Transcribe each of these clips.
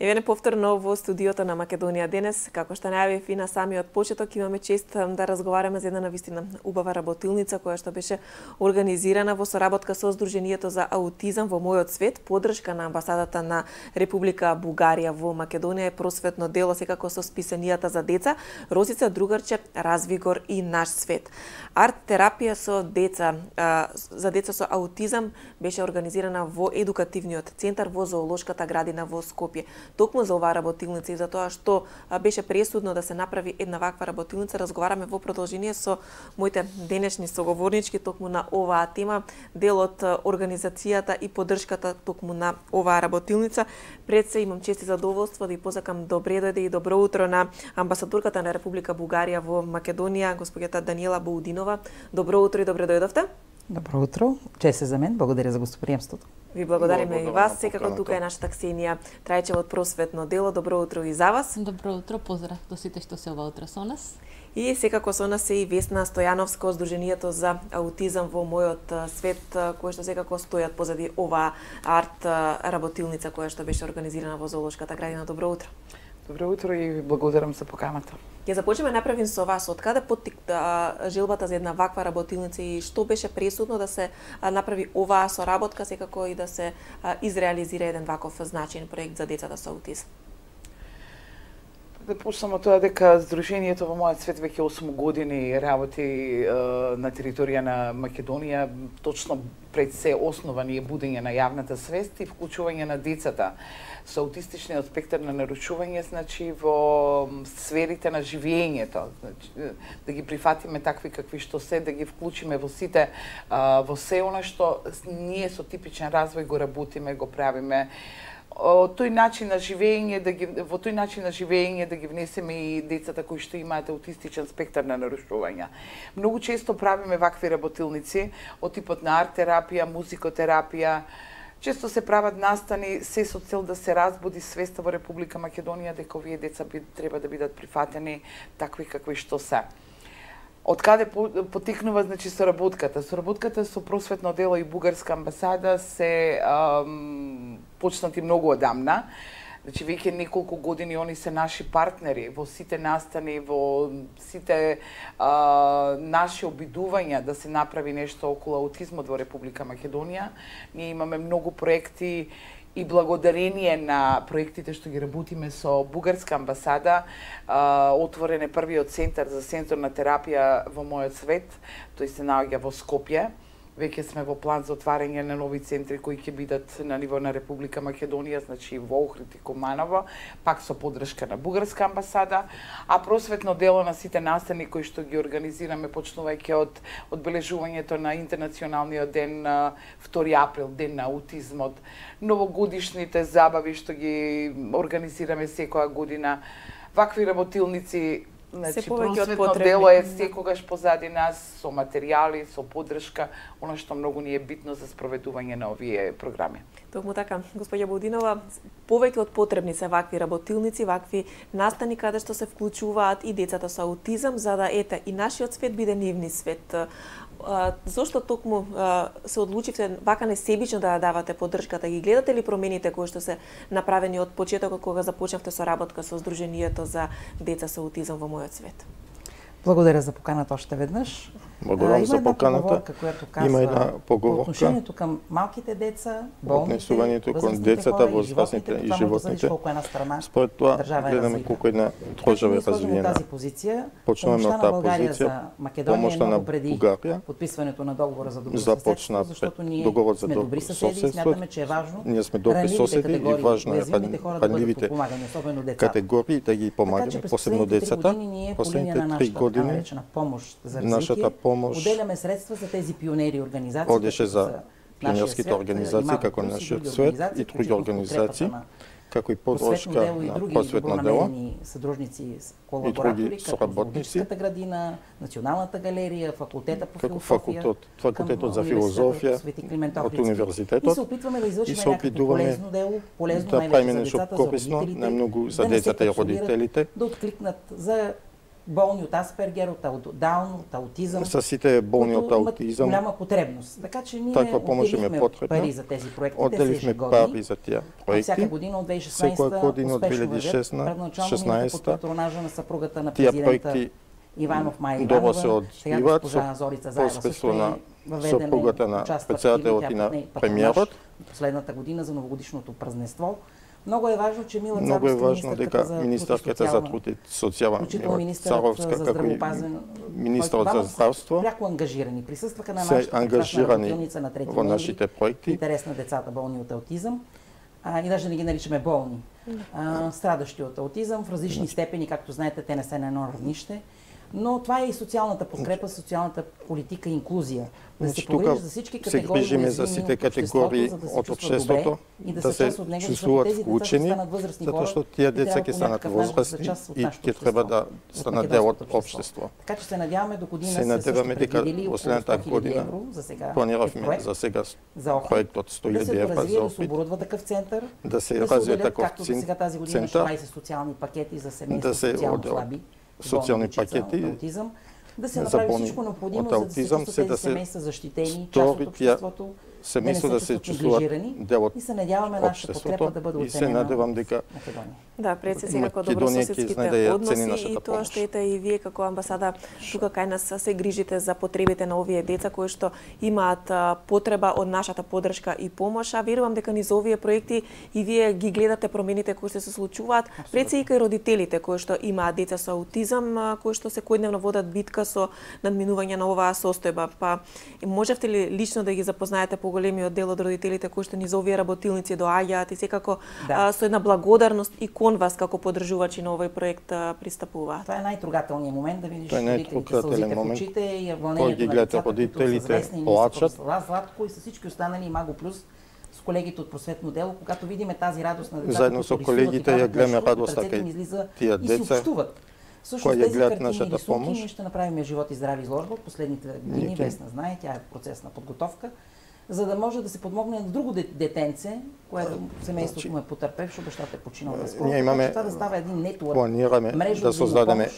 Еве повторно во студиото на Македонија денес, како што најавив и на самиот почеток, имаме чест да разговараме за една навистина убава работилница која што беше организирана во соработка со Сдруженијето за аутизам во мојот свет, подршка на амбасадата на Република Бугарија во Македонија е просветно дело секако со списанијата за деца, Росица, Другарче, Развигор и Наш свет. Арт терапија со деца, за деца со аутизам беше организирана во едукативниот центар во Зоолошката градина во Скопје. Токму за оваа работилница и за тоа што беше пресудно да се направи една ваква работилница, разговараме во продолжение со моите денешни соговорнички токму на оваа тема, дел од организацијата и поддршката токму на оваа работилница. Пред се имам чест и задоволство да ја посакам добре дојде и добро утро на амбасадорката на Република Бугарија во Македонија, госпоѓата Даниела Боудинова. Добро утро и добре дојдовте. Добро утро, чест е за мен, благодаря за гостоприемството. Ви благодариме и вас, секако тука е нашата Ксенија Трајчева од просветно дело. Добро утро и за вас. Добро утро, поздрав до сите што се ова утро со нас. И секако со нас е и Весна Стојановска од Сдруженијето за аутизам во мојот свет, кој што секако стојат позади оваа арт работилница која што беше организирана во Зоолошката градина. Добро утро. Добро утро и ви благодарам за поканата. Ќе започнеме направим со вас. Од каде желбата за една ваква работилница и што беше пресудно да се направи оваа соработка, секако и да се изреализира еден ваков значаен проект за децата со аутизам? Да почнам од тоа дека Сдруженијето во мојот свет веќе 8 години работи на територија на Македонија, точно пред се основани е будење на јавната свест и вклучување на децата со аутистичниот спектар на нарушување, значи во сферите на живењето, значи да ги прифатиме такви какви што се, да ги вклучиме во сите во се она што ние со типичен развој го работиме, го правиме. Во тој начин на живење да ги внесеме и децата кои што имаат аутистичен спектар на нарушувања. Многу често правиме вакви работилници од типот на арт терапија, музикотерапија. Често се прават настани се со цел да се разбуди свеста во Република Македонија дека овие деца треба да бидат прифатени такви какви што се. Од каде потекнува, значи, соработката? Соработката со просветно дело и Бугарска амбасада се почнати многу одамна. Значи, веќе неколку години они се наши партнери во сите настани, во сите наши обидувања да се направи нешто околу аутизмот во Република Македонија. Ние имаме многу проекти и благодарение на проектите што ги работиме со Бугарска амбасада, отворен е првиот центар за сензорна терапија во мојот свет. Тој се наоѓа во Скопје. Веќе сме во план за отварање на нови центри кои ќе бидат на ниво на Република Македонија, значи во Охрид и Куманово, пак со поддршка на Бугарска амбасада, а просветно дело на сите настани кои што ги организираме почнувајќи од одбележувањето на интернационалниот ден 2 април, ден на аутизмот, новогодишните забави што ги организираме секоја година, вакви работилници. Значи, просветно дело е секогаш позади нас, со материјали, со поддршка, она што многу ни е битно за спроведување на овие програми. Токму така, господја Боудинова, повеќе од потребни се вакви работилници, вакви настани каде што се вклучуваат и децата со аутизам, за да и нашиот свет биде нивни свет. Зошто токму се одлучивте вака несебично да давате поддршката? Ги гледате ли промените кои што се направени од почетокот кога започнавте соработка со Сдруженијето за деца со аутизам во мојот свет? Благодаря за поканата оште веднаш. Благодарам за поканата. Има една поговорка. Отношението кам малките деца, болните, однесувањето кон децата, возрастните и животните. Според тоа гледаме колку една држава е развиена. Почнуваме од таа позиција. Помошта на Бугарија подписването на договор за добро започна договор за добро соседство. Ние сме добри соседи и важно е панливите категории да ги помагаме, посебно децата. Последните 3 години нашата помош отделяме средства за тези пионери организации. Одеше за пионерските организации како нашиот свет и други организации, како и поддршка на просветно дело и други соработници, градина, Националната галерија, факултетот по философија, факултетот за филозофија од универзитетот. И се опитуваме да правиме нешто корисно, најмногу за децата и родителите. Да откликнат за болни од Аспергер, од Даун, од аутизам. Са сите болни од аутизам. Голяма потребност. Така че ние отделивме пари за тези проекти. Отделивме пари за тие проекти. Всяка година од 2016 2016 патронажа на съпругата на президента Иванов Маја Иванова. Добро се одвиваат со на съпругата на председателот и на премиерот. Последната година за новогодишното празненство. Много е важно, че Мила Царовска, министерката за труд и социјална, Царовска, како и министерот за здравство, пряко ангажирани, присъстваха на нашата работилница на 3 во нашите проекти. Интерес на децата болни от аутизъм. И даже не ги наричаме болни. Страдащи от аутизъм в различни степени, както знаете, те не са на едно равнище. Но това е и социалната подкрепа, социалната политика и инклюзия. Да се погрижи за всички категории от обществото, да се чувствуват вклучени, затоа што тие деца ќе станат возрастни и ќе треба да станат дел од општество. Така че се надяваме до година се надеваме дека во следната година планираме за сега проектот 100.000 евра за опит, да се оборудва такъв център, да се развие таков център, 20 социални пакети за семейства социално слаби, социални пакети да се направи всичко необходимо, за да се тези семейства защитени, част от обществото, семейство да се чувствуват дел од и се надяваме нашата подкрепа да бъде оценена. И се надевам дека да, пред се сега како добрососедските односи и тоа што ете и вие како амбасада тука кај нас се грижите за потребите на овие деца кои што имаат потреба од нашата поддршка и помош. А верувам дека низ овие проекти и вие ги гледате промените кои се случуваат, пред се и кај родителите кои што имаат деца со аутизам, кои што секојдневно водат битка со надминување на оваа состојба. Па можевте ли лично да ги запознаете поголемиот дел од родителите кои што низ овие работилници доаѓаат и секако со една благодарност и кон вас како поддржувачи на овој проект пристапуваат? Това е најтрогателниот момент да видиш родителите со сълзите в очите и вълнението на децата, родителите плачат. Златко и со всички останали Маго Плюс с колегите од просветно дело, когато видиме тази радост на децата, заедно со колегите ја гледаме радоста кај тие деца кои ја гледат нашата помош. Ние ще направиме живот и здраве изложба од последните години, Весна знае, тя е процес на подготовка, за да може да се подмогне на друго детенце, което семейството му е потърпевшо, бащата е починал наскоро. Ние имаме, това да става един нетворк, планираме да создадеме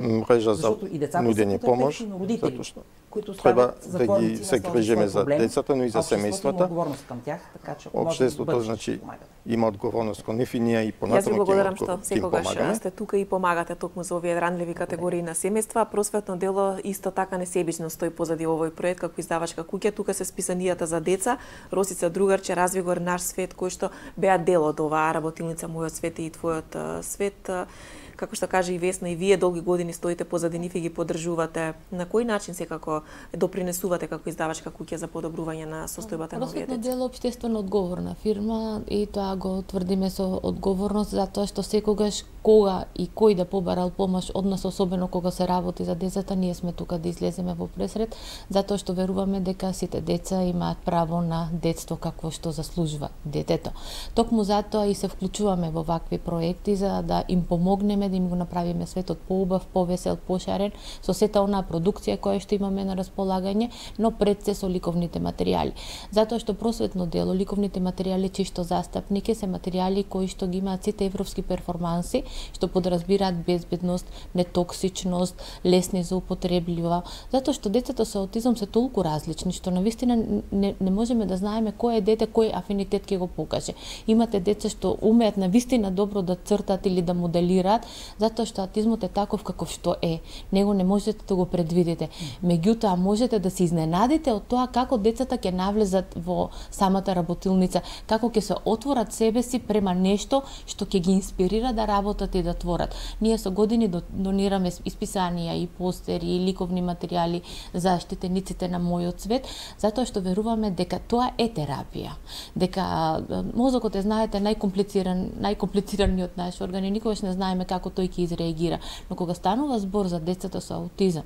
мрежа за нудени помош, затоа што които треба да ги се грижиме за децата, но и за семејствата. Отговорност към тях, така че општеството значи има одговорност кон нив и ние и понатаму ќе благодарам што секогаш сте тука и помагате токму за овие ранливи категории на семејства. Просветно дело исто така несебично стои позади овој проект како издавачка куќа. Тука се списанијата за деца, Росица Другарче, Развигор наш свет, кои што беа дел од оваа работилница Мојот свет и твојот свет. Како што кажа и Весна, и вие долги години стоите позади нив и ги поддржувате. На кој начин секако допринесувате како издавачка куќа за подобрување на состојбата на овие деца? Просветно дело општествено одговорна фирма и тоа го тврдиме со одговорност затоа што секогаш кога и кој да побарал помош од нас, особено кога се работи за децата, ние сме тука да излеземе во пресред, затоа што веруваме дека сите деца имаат право на детство какво што заслужува детето. Токму затоа и се вклучуваме во вакви проекти за да им помогнеме да им го направиме светот поубав, повесел, пошарен со сета онаа продукција која што имаме на располагање, но пред се со ликовните материјали. Затоа што просветно дело, ликовните материјали чисто застапники се материјали кои што ги имаат сите европски перформанси, што подразбираат безбедност, нетоксичност, лесни за употреблива, затоа што децата со аутизам се толку различни што навистина не можеме да знаеме кој е дете, кој афинитет ќе го покаже. Имате деца што умеат навистина добро да цртат или да моделираат, затоа што аутизмот е таков каков што е. Него не можете да го предвидите. Меѓутоа можете да се изненадите од тоа како децата ќе навлезат во самата работилница, како ќе се отворат себе си према нешто што ќе ги инспирира да работат и да творат. Ние со години донираме исписанија и постери и ликовни материјали за штетениците на Мојот свет, затоа што веруваме дека тоа е терапија. Дека мозокот е, знаете, најкомплицираниот наш орган и никогаш не знаеме како тој ќе изреагира. Но кога станува збор за децата со аутизам,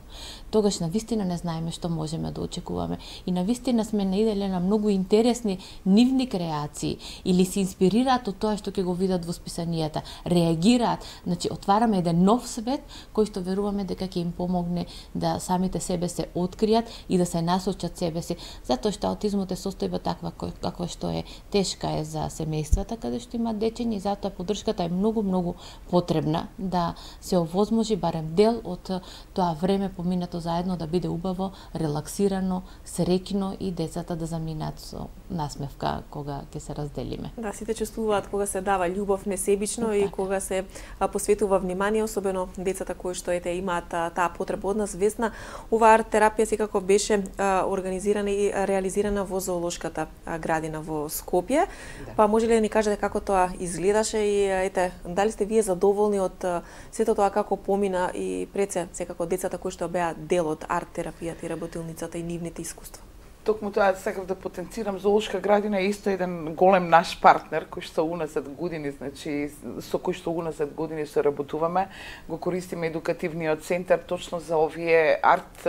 тогаш навистина не знаеме што можеме да очекуваме. И навистина сме наиделе на многу интересни нивни креации или се инспирираат од тоа што ќе го видат во списанијата. Реагираат, значи отвараме еден нов свет кој што веруваме дека ќе им помогне да самите себе се откријат и да се насочат себе си. Затоа што аутизмот е состојба таква каква што е, тешка е за семејствата каде што има дечиња и затоа поддршката е многу потребна да се овозможи барем дел од тоа време поминато заедно да биде убаво, релаксирано, среќно и децата да заминат со насмевка кога ќе се разделиме. Да, сите чувствуваат кога се дава љубов несебично и кога се посветува внимание, особено децата кои што имаат таа потреба од нас. Весна, оваа арт терапија секако беше организирана и реализирана во зоолошката градина во Скопје. Да. Па може ли да ни кажете како тоа изгледаше и дали сте вие задоволни од сето тоа како помина и пред се секако децата кои што беа дел од арт терапијата и работилницата и нивните искуства? Токму тоа сакав да потенцирам, зоолошка градина е исто еден голем наш партнер кој што уназад години, значи со кој што уназад години се работуваме, го користиме едукативниот центар точно за овие арт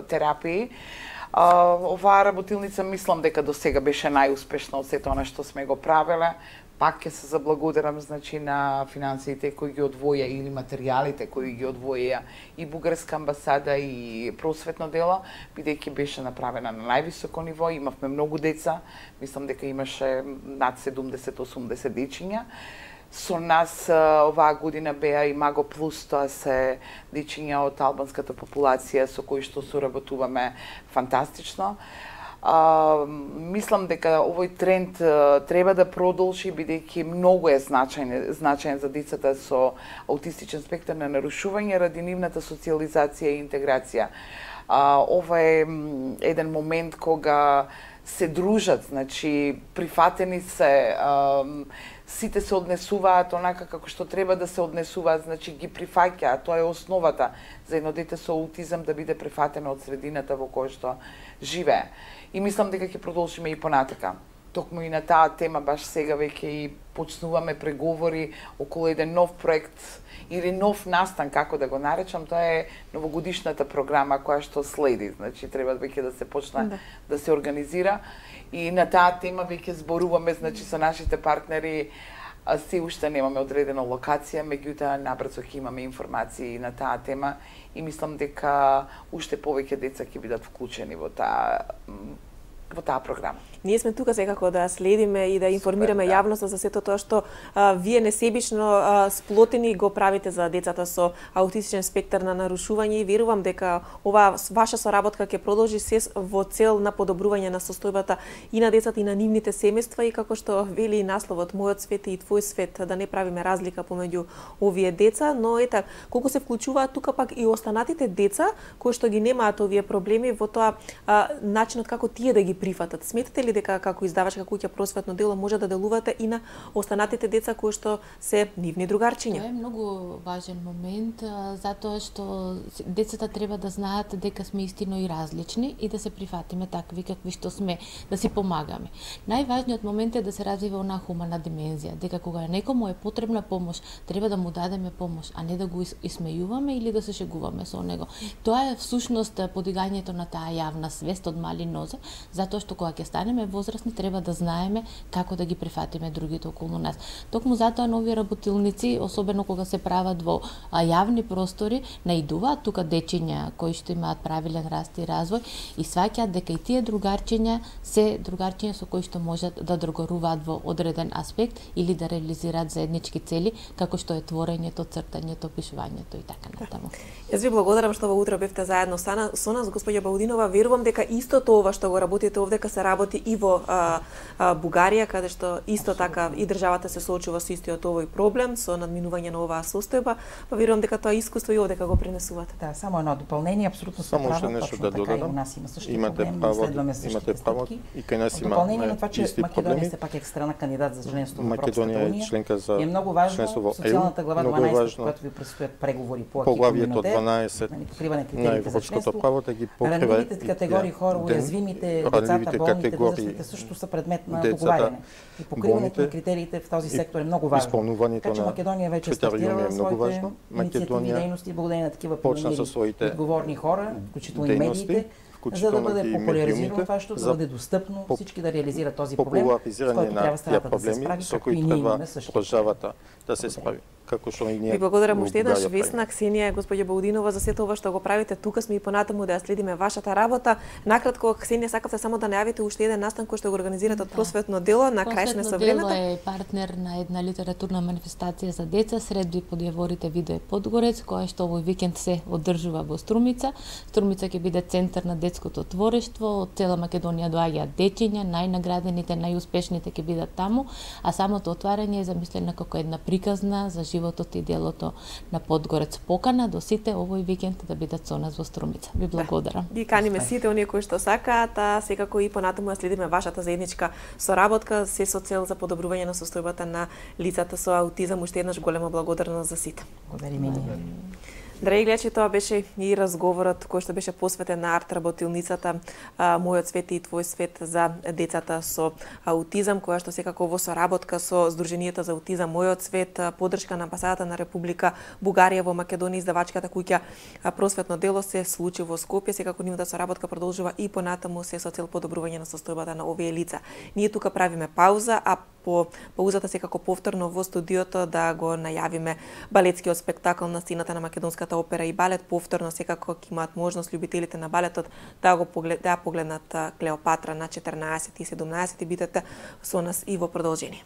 терапии. Оваа работилница мислам дека до сега беше најуспешна од сето она што сме го правеле. Пак ќе се заблагодарам, значи, на финансиите кои ги одвоја или материјалите кои ги одвоја и Бугарска амбасада и просветно дело, бидејќи беше направена на највисоко ниво. Имавме многу деца, мислам дека имаше над 70-80 дечиња. Со нас оваа година беа и Маго Плюс, тоа се дечиња од албанската популација со кои што соработуваме фантастично. Мислам дека овој тренд треба да продолжи, бидејќи многу е значаен за децата со аутистичен спектар на нарушување ради нивната социјализација и интеграција. Ова е еден момент кога се дружат, значи прифатени се, сите се однесуваат онака како што треба да се однесуваат, значи ги прифаќаат, тоа е основата за едно дете со аутизам да биде прифатено од средината во која што живее. И мислам дека ќе продолжиме и понатака. Токму и на таа тема баш сега веќе и почнуваме преговори околу еден нов проект или нов настан, како да го наречам, тоа е новогодишната програма која што следи. Значи треба веќе да се почне да се организира и на таа тема веќе зборуваме, значи со нашите партнери. Се уште немаме одредена локација, меѓутоа набрзо ќе имаме информации на таа тема и мислам дека уште повеќе деца ќе бидат вклучени во таа програма. Ние сме тука секако да следиме и да информираме јавноста за сето тоа што вие несебично сплотени го правите за децата со аутистичен спектар на нарушување и верувам дека оваа ваша соработка ќе продолжи се во цел на подобрување на состојбата и на децата и на нивните семејства и како што вели насловот Мојот свет и твој свет, да не правиме разлика помеѓу овие деца, но колку се вклучуваат тука пак и останатите деца кои што ги немаат овие проблеми во тоа начинот како тие да ги прифатат. Сметате ли дека како издавачка куќа Просветно дело може да делувате и на останатите деца кои што се нивни другарчиња? Тоа е многу важен момент, затоа што децата треба да знаат дека сме истино и различни и да се прифатиме такви какви што сме, да си помагаме. Најважниот момент е да се развива онаа хумана димензија, дека кога некому е потребна помош, треба да му дадеме помош, а не да го исмејуваме или да се шегуваме со него. Тоа е всушност подигањето на таа јавна свест од мали нозе, затоа што кога ќе станеме возрастни треба да знаеме како да ги прифатиме другите околу нас. Токму затоа нови работилници, особено кога се прават во јавни простори, наидуваат тука дечиња кои што имаат правилен раст и развој и сваќаат дека и тие другарчиња се другарчиња со кои што можат да договоруваат во одреден аспект или да реализираат заеднички цели, како што е творењето, цртањето, пишувањето и така натаму. Јас ви благодарам што во утро бевте заедно со нас, господја Баудинова. Верувам дека истото ова што го работите овдека се работи и во Бугарија, каде што исто така и државата се соочува со истиот овој проблем, со надминување на оваа состојба, па верувам дека тоа искуство и овдека го пренесувате. Да, само едно дополнение, апсолутно се право, точно да така и у нас има същите проблеми, имате право и кај нас има дополнение на тоа че Македонија се пак екстрана кандидат за членство во Македонија е членка за е многу важно социјалната глава 12 кога ви предстојат преговори по поглавието 12 на европското право да ги покрива ранливите категории хора, уязвимите, децата, болните, возрастните също са предмет на договаряне. И покриването на критериите в този сектор е много важно. Така че Македония вече стартирала своите инициативи и дейности, благодарение на такива отговорни хора, включително и медиите, вклучително и медиумите, това, што да биде достапно, всички да реализираат този проблем, со кој треба страната да се справи, со кои треба државата да се справи. Како што и ние. Ви благодарам уште еднаш, Весна, Ксенија, господја Баудинова, за сето ова што го правите. Тука сме и понатаму да ја следиме вашата работа. Накратко, Ксенија, сакавте само да најавите уште еден настан кој што го организирате од Просветно дело, на крај сме со времето. Просветно дело е партнер на една литературна манифестација за деца среди подјаворите Видое Подгорец, која што овој викенд се одржува во Струмица. Струмица ќе биде центар на детското творештво, од цела Македонија доаѓаат дечиња, најнаградените, најуспешните ќе бидат таму, а самото отварање е замислено како една приказна за животот и делото на Подгорец. Покана до сите овој викенд да бидат со нас во Струмица. Ви благодарам. Ги каниме сите оние кои што сакаат, а секако и понатаму да следиме вашата заедничка соработка, се со цел за подобрување на состојбата на лицата со аутизам. Уште еднаш голема благодарност за сите. Благодариме. Драги гледачи, тоа беше и разговорот кој што беше посветен на арт работилницата Мојот свет и твој свет за децата со аутизам, која што секако во соработка со Сдруженијето за аутизам Мојот свет, поддршка на амбасадата на Република Бугарија во Македонија, издавачката куќа Просветно дело се случи во Скопје. Секако нивната соработка продолжува и понатаму, се со цел подобрување на состојбата на овие лица. Ние тука правиме пауза, а по паузата секако повторно во студиото да го најавиме балетскиот спектакл на сцената на Македонската опера и балет. Повторно секако ќе имаат можност љубителите на балетот да погледнат Клеопатра на 14 и 17 и бидете со нас и во продолжение.